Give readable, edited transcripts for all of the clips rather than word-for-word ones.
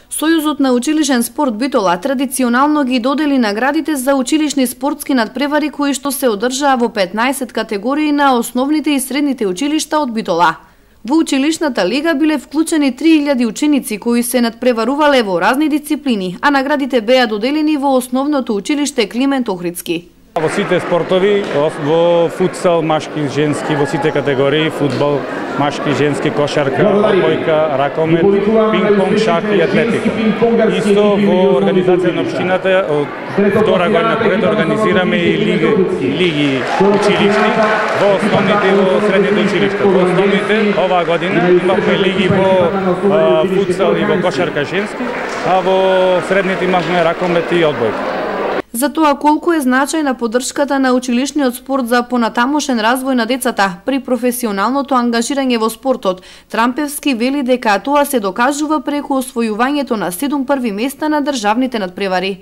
Сојузот на училишен спорт Битола традиционално ги додели наградите за училишни спортски надпревари кои што се одржаа во 15 категории на основните и средните училишта од Битола. Во училишната лига биле вклучени 3000 ученици кои се надпреварувале во разни дисциплини, а наградите беа доделени во основното училиште Климент Охридски. Во сите спортови, во футсал, машки, женски, во сите категории, фудбал, машки, женски, кошарка, одбојка, ракомет, пинг-понг, шах и атлетика. Исто во организација на општината од втора година поред организираме и лиги училишни во основните и во средните училишта. Во основните оваа година имавме лиги во футсал и во кошарка женски, а во средните имавме ракомет и одбојка. За тоа колку е значајна поддршката на училишниот спорт за понатамошен развој на децата при професионалното ангажирање во спортот, Трампевски вели дека тоа се докажува преку освојувањето на 7 први места на државните надпревари.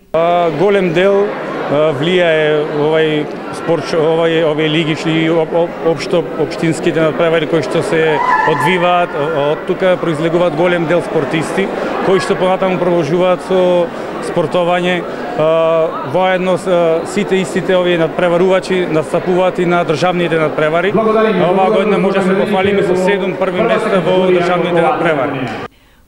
Голем дел влијае овај спорт, овие лигишни општо општинските надпревари кои што се одвиваат, од тука произлегуваат голем дел спортисти кои што понатаму продолжуваат со спортовање. Воедно сите истите овие надпреварувачи настапуваат и на државните надпревари. Оваа година може да се пофалиме со 7 први места во државните надпревари.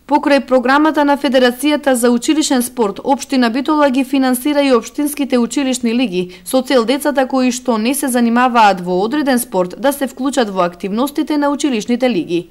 Покрај програмата на Федерацијата за училишен спорт, општина Битола ги финансира и општинските училишни лиги, со цел децата кои што не се занимаваат во одреден спорт да се вклучат во активностите на училишните лиги.